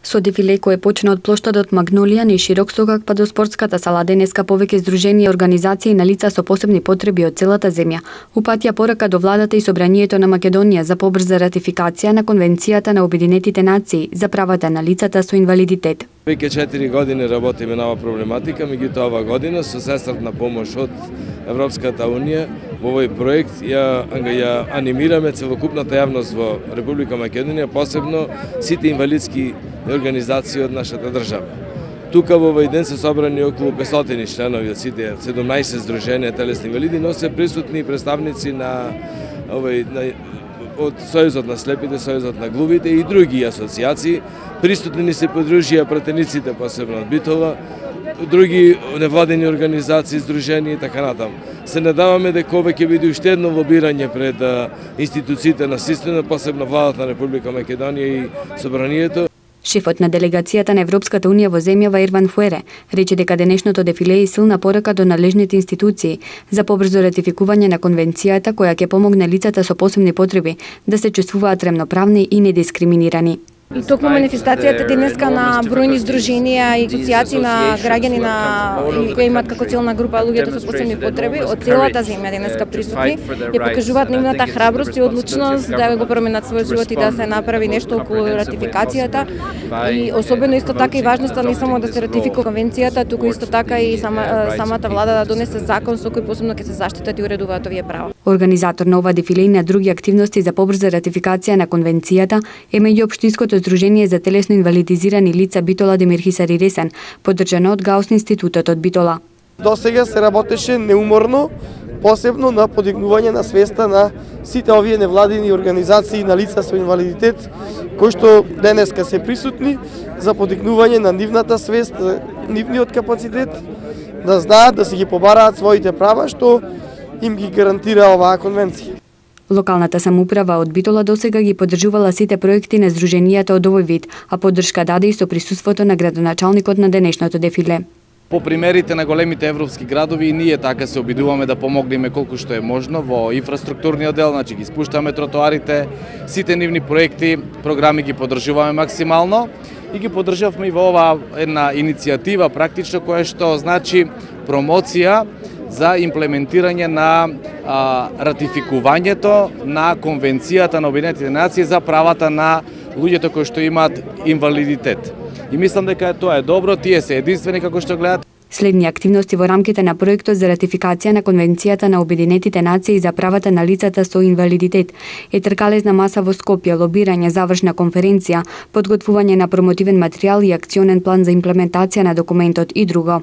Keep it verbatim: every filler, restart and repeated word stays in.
Со дефиле кој почна од плоштадот Магнолија низ широк сокак па до спортската сала, денеска повеќе здруженија и организации на лица со посебни потреби од целата земја упатија порака до владата и собранието на Македонија за побрза ратификација на Конвенцијата на Обединетите нации за правата на лицата со инвалидитет. Веќе четири години работиме на оваа проблематика, меѓутоа оваа година со сестратна помош од Европската унија во овој проект ја, ја анимираме целокупната јавност во Република Македонија, посебно сите инвалидски организации од нашата држава. Тука во овој ден се собрани околу петстотини членови од сите седумнаесет здруженија телесни инвалиди, но се присутни представници на овој на од Сојузот на слепите, Сојузот на глувите и други асоциации. Присутни ни се подружија пратениците, посебно од Битола, други невладени организации, здруженија и така натаму. Се надаваме дека ова ќе биде уште едно лобирање пред институциите на системот, посебно владата на Република Македонија и собранието. Шефот на делегацијата на Европската унија во земјава Ерван Фуере рече дека денешното дефиле е силна порака до надлежните институции за побрзо ратификување на конвенцијата која ќе помогне лицата со посебни потреби да се чувствуваат рамноправни и недискриминирани. И токму манифестацијата денеска на бројни здруженија и асоциации на граѓани на кои имаат како целна група луѓето со посебни потреби од целата земја денеска присутни ја покажуваат нивната храброст и одлучност да го променат својот живот и да се направи нешто околу ратификацијата. И особено исто така и важноста не само да се ратификува конвенцијата, туку исто така и сама, самата влада да донесе закон со кој посебно ќе се заштитат и уредуваат овие права. Организатор на ова дефиле и на други активности за побрза ратификација на конвенцијата е меѓуопштинското Здружение за телесно инвалидизирани лица Битола Демир Хисари Ресен, поддржано од Гаус институтот од Битола. До сега се работеше неуморно, посебно на подигнување на свеста на сите овие невладини организации на лица со инвалидитет, кои што денеска се присутни за подигнување на нивната свест, нивниот капацитет, да знаат да си ги побараат своите права што им ги гарантира оваа конвенција. Локалната самоуправа од Битола досега ги поддржувала сите проекти на здруженијата од овој вид, а поддршка даде и со присуството на градоначалникот на денешното дефиле. По примерите на големите европски градови и ние така се обидуваме да помогнеме колку што е можно во инфраструктурниот дел, значи ги спуштаме тротоарите, сите нивни проекти, програми ги поддржуваме максимално и ги поддржавме и во оваа една иницијатива практично која што значи промоција за имплементирање на а, ратификувањето на Конвенцијата на Обединетите нации за правата на луѓето кои што имаат инвалидитет. И мислам дека тоа е добро, тие се единствени како што гледат. Следни активности во рамките на проектот за ратификација на Конвенцијата на Обединетите нации за правата на лицата со инвалидитет е тркалезна маса во Скопје, лобирање, завршна конференција, подготвување на промотивен материјал и акционен план за имплементација на документот и друго.